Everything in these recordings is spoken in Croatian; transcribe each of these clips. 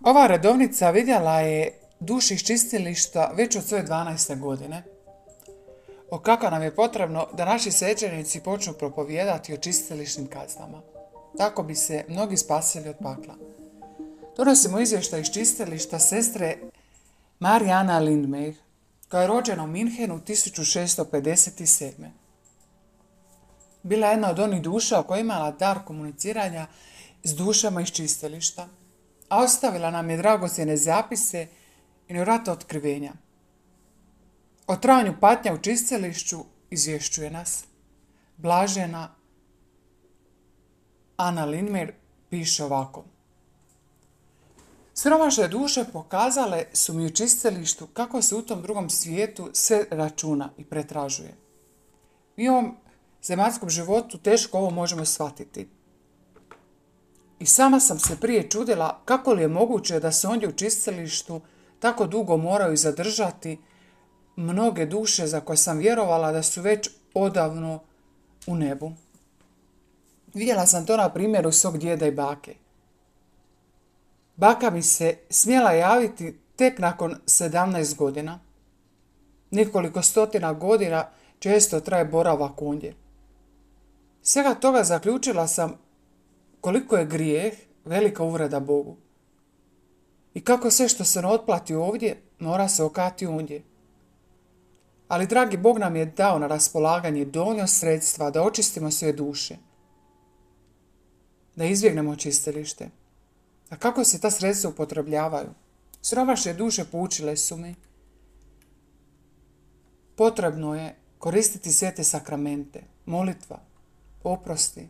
Ova redovnica vidjela je duši iz čistilišta već od svoje 12. godine. O kako nam je potrebno da naši svećenici počnu propovijedati o čistilišnim kaznama. Tako bi se mnogi spasili od pakla. Donosimo izvještaj iz čistilišta sestre Mariana Lindmeyer, koja je rođena u Minhenu 1657. Bila je jedna od onih duša koja je imala dar komuniciranja s dušama iz čistilišta, a ostavila nam je dragocjene zapise i nevjerojatna otkrivenja. O trajanju patnja u čistilišću izvješćuje nas. Blažena Ana Lindmeyer piše ovako. Siromašne duše pokazale su mi u čistilištu kako se u tom drugom svijetu sve računa i pretražuje. Mi u ovom zemaljskom životu teško ovo možemo shvatiti. I sama sam se prije čudila kako li je moguće da se ondje u čistilištu tako dugo moraju zadržati mnoge duše za koje sam vjerovala da su već odavno u nebu. Vidjela sam to na primjeru svog djeda i bake. Baka mi se smjela javiti tek nakon 17 godina. Nekoliko stotina godina često traje boravak ondje. Svega toga zaključila sam koliko je grijeh velika uvreda Bogu. I kako sve što se ne otplati ovdje, mora se okati ondje. Ali dragi Bog nam je dao na raspolaganje dovoljno sredstva da očistimo sve duše. Da izbjegnemo čistilište. A kako se ta sredstva upotrebljavaju? Siromašne duše poučile su mi. Potrebno je koristiti svete sakramente, molitva, oprosti.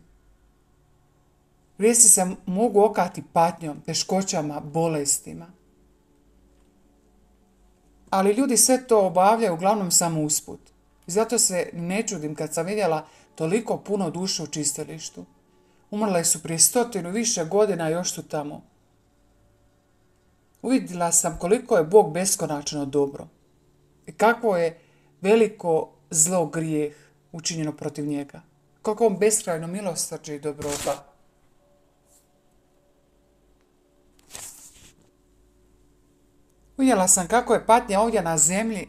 Grijesi se mogu okati patnjom, teškoćama, bolestima. Ali ljudi sve to obavljaju uglavnom samo usput. I zato se ne čudim kad sam vidjela toliko puno duša u čistilištu. Umrle su prije 100 više godina i još su tamo. Uvidjela sam koliko je Bog beskonačno dobro i kakvo je veliko zlo grijeh učinjeno protiv njega. Kako on beskrajno milosrđe i dobrota. Uvidjela sam kako je patnja ovdje na zemlji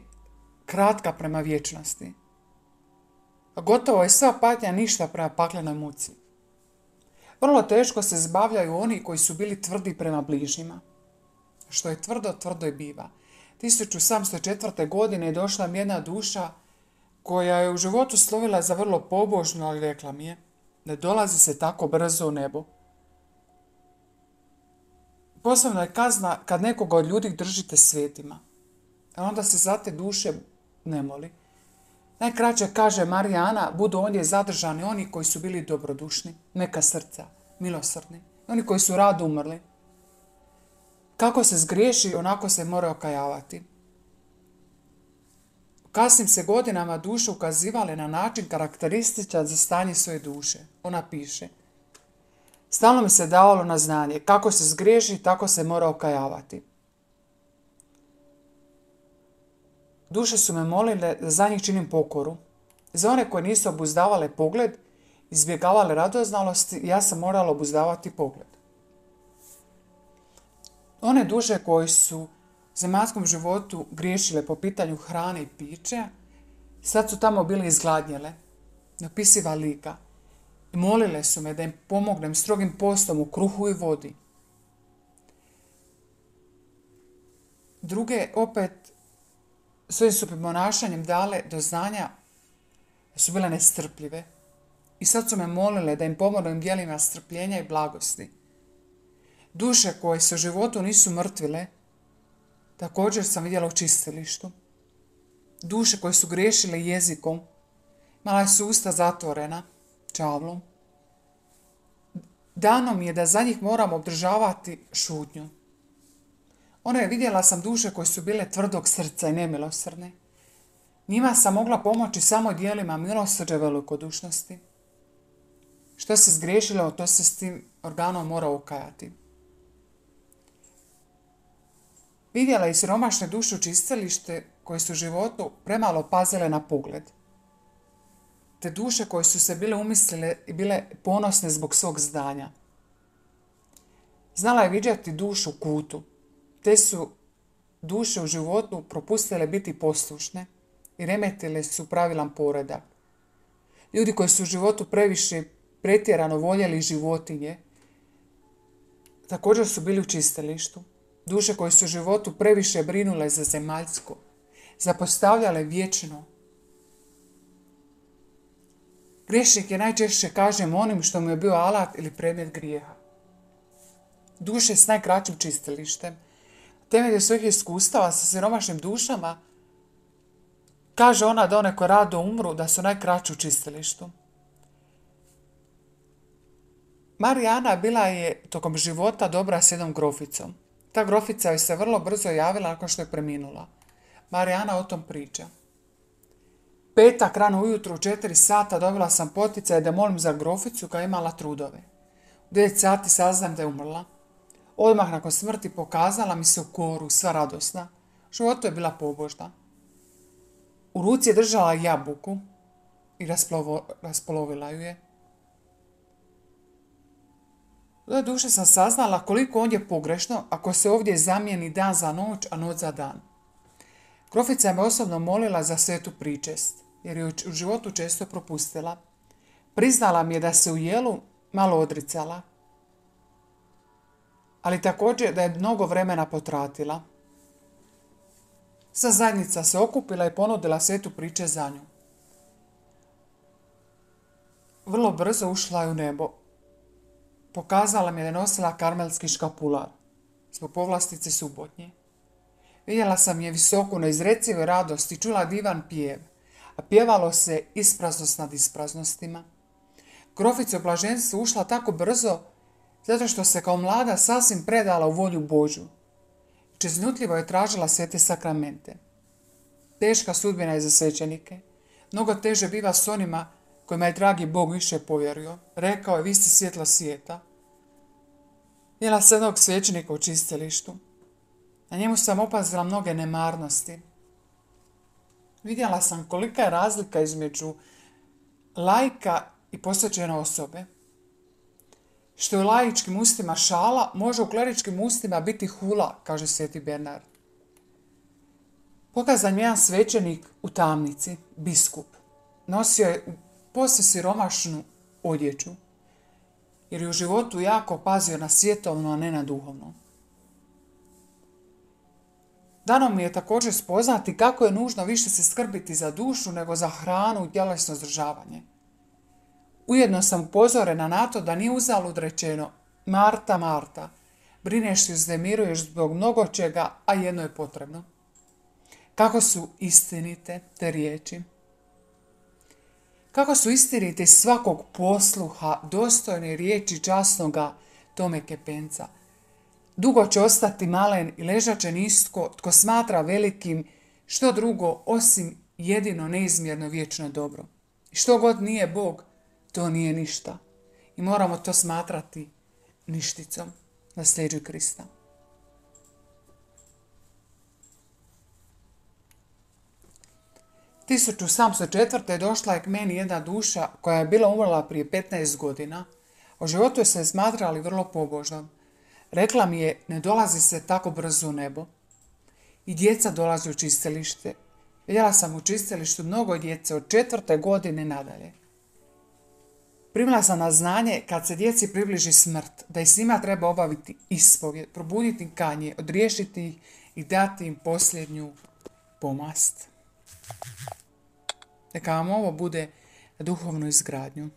kratka prema vječnosti. A gotovo je sva patnja ništa prema paklenoj muci. Vrlo teško se zbavljaju oni koji su bili tvrdi prema bližnjima. Što je tvrdo, tvrdo i biva. 1704. godine je došla mi jedna duša koja je u životu slovila za vrlo pobožnu, ali rekla mi je, ne dolazi se tako brzo u nebo. Posebno je kazna kad nekoga od ljudi držite svetima. A onda se za te duše ne moli. Najkraće kaže Marijana, budu ondje zadržani oni koji su bili dobrodušni, neka srca, milosrdni, oni koji su rado umrli. Kako se zgriješi, onako se mora okajavati. U kasnim se godinama duše ukazivale na način karakterističan za stanje svoje duše. Ona piše. Stalno mi se davalo na znanje, kako se zgriješi, tako se mora okajavati. Duše su me molile da za njih činim pokoru. Za one koje nisu obuzdavale pogled, izbjegavale radoznalosti, ja sam morala obuzdavati pogled. One duše koje su u zemaljskom životu griješile po pitanju hrane i pića, sad su tamo bile izgladnjele, neopisiva lika, i molile su me da im pomognem strogim postom u kruhu i vodi. Druge opet svojim su ponašanjem dale do znanja da su bile nestrpljive i sad su me molile da im pomognem djelima strpljenja i blagosti. Duše koje se u životu nisu mrtvile, također sam vidjela u čistilištu. Duše koje su griješile jezikom, imala su usta zatvorena, čavlom. Dano mi je da za njih moram obdržavati šutnju. Vidjela sam duše koje su bile tvrdog srca i nemilosrdne. Njima sam mogla pomoći samo djelima milosrđe velikodušnosti. Što se zgriješilo, to se s tim organom mora ukajati. Vidjela i siromašne duše u čistilište koje su u životu premalo pazile na pogled. Te duše koje su se bile umislile i bile ponosne zbog svog zdanja. Znala je viđati dušu u kutu, te su duše u životu propustile biti poslušne i remetile su pravilan poredak. Ljudi koji su u životu previše pretjerano voljeli životinje, također su bili u čistilištu. Duše koje su u životu previše brinule za zemaljsko, zapostavljale vječno. Griješnik je najčešće, kažem, onim što mu je bio alat ili predmet grijeha. Duše s najkraćim čistilištem, temelju svojih iskustava sa siromašnim dušama, kaže ona da one koje rado umru, da su najkraći u čistilištu. Marijana bila je tokom života dobra s jednom groficom. Ta grofica joj se vrlo brzo javila nakon što je preminula. Marijana o tom priča. Petak rano ujutro u 4 sata dobila sam poticaj da molim za groficu koja je imala trudove. U 9 sati saznam da je umrla. Odmah nakon smrti pokazala mi se u koru, sva radosna. U životu je bila pobožna. U ruci je držala jabuku i raspolovila ju je. U toj duši sam saznala koliko on je pogrešno ako se ovdje zamijeni dan za noć, a noć za dan. Grofica me osobno molila za svetu pričest, jer je u životu često propustila. Priznala mi je da se u jelu malo odricala, ali također da je mnogo vremena potratila. Sva zajednica se okupila i ponudila svetu priče za nju. Vrlo brzo ušla je u nebo. Pokazala mi je da je nosila karmelski škapular, zbog povlastice subotnje. Vidjela sam je visoku na izrecivoj radosti, čula divan pjev, a pjevalo se ispraznost nad ispraznostima. Grofica u blaženstvu ušla tako brzo, zato što se kao mlada sasvim predala u volju Božju. Čeznutljivo je tražila svete sakramente. Teška sudbina je za svećenike. Mnogo teže biva s onima kojima je dragi Bog više povjerio. Rekao je, vi ste svjetlo svijeta. Vidjela sam jednog svećenika u čistilištu. Na njemu sam opazila mnoge nemarnosti. Vidjela sam kolika je razlika između laika i posvećene osobe. Što je u laičkim ustima šala, može u kleričkim ustima biti hula, kaže sveti Bernard. Pokazan mi jedan svećenik u tamnici, biskup. Nosio je posve siromašnu odjeću, jer je u životu jako pazio na svjetovno, a ne na duhovno. Dano mi je također spoznati kako je nužno više se skrbiti za dušu nego za hranu i tjelesno zdržavanje. Ujedno sam upozorena na to da nije uzalud rečeno Marta, Marta, brineš i uznemiruješ zbog mnogo čega, a jedno je potrebno. Kako su istinite te riječi? Kako su istinite iz svakog posluha, dostojne riječi časnoga Tome Kepenca? Dugo će ostati malen i ležat će nisko, tko smatra velikim što drugo osim jedino neizmjerno vječno dobro. I što god nije Bog, to nije ništa. I moramo to smatrati ništicom na sljeđu Krista. U 1704. došla je k meni jedna duša koja je bila umrla prije 15 godina. O životu je se smatrali vrlo pobožnom. Rekla mi je, ne dolazi se tako brzo u nebo. I djeca dolaze u čistilište. Vidjela sam u čistilištu mnogo djece od 4. godine nadalje. Primila sam na znanje kad se djeci približi smrt, da i s njima treba obaviti ispovjed, probuditi im kanje, odriješiti ih i dati im posljednju pomast. Neka vam ovo bude duhovnu izgradnju.